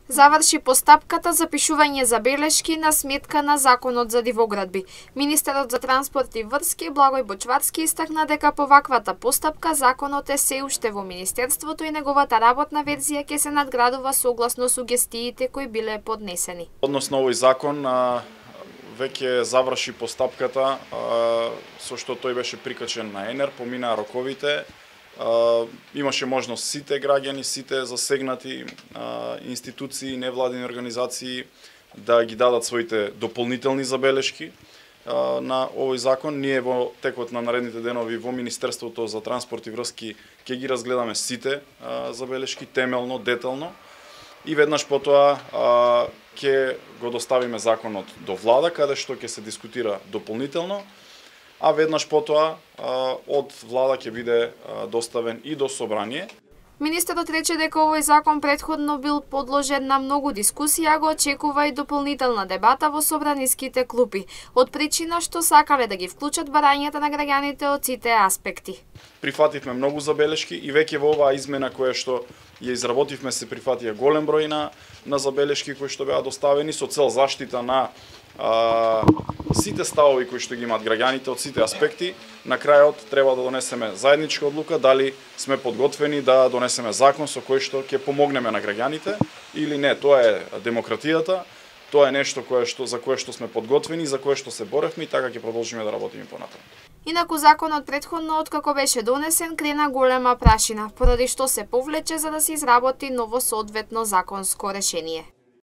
Заврши постапката за пишување забелешки на сметка на Законот за дивоградби. Министерот за транспорт и врски Благој Бочварски истакна дека по ваквата постапка законот е се уште во Министерството и неговата работна верзија ќе се надградува согласно сугестиите кои биле поднесени. Односно овој закон веќе заврши постапката со што тој беше прикачен на ЕНЕР, поминаа роковите. Имаше можност сите граѓани, сите засегнати институции, невладини организации да ги дадат своите дополнителни забелешки на овој закон. Ние во текот на наредните денови во Министерството за транспорт и врски ќе ги разгледаме сите забелешки темелно, детално и веднаш потоа ќе го доставиме законот до влада каде што ќе се дискутира дополнително. А веднаш потоа од влада ќе биде доставен и до собрание. Министерот рече дека овој закон претходно бил подложен на многу дискусии, а го очекува и дополнителна дебата во собраниските клупи, од причина што сакале да ги вклучат барањата на граѓаните од сите аспекти. Прифативме многу забелешки и веќе во оваа измена која што ја изработивме се прифатија голем број на забелешки кои што беа доставени со цел заштита на сите ставови кои што ги имаат граѓаните од сите аспекти. На крајот треба да донесеме заедничка одлука дали сме подготвени да донесеме закон со кој што ќе помогнеме на граѓаните или не. Тоа е демократијата, тоа е нешто за кое што сме подготвени, за кое што се боревме и така ќе продолжиме да работиме понатаму. Инаку законот претходно откако беше донесен крена голема прашина, поради што се повлече за да се изработи ново соодветно законско решение.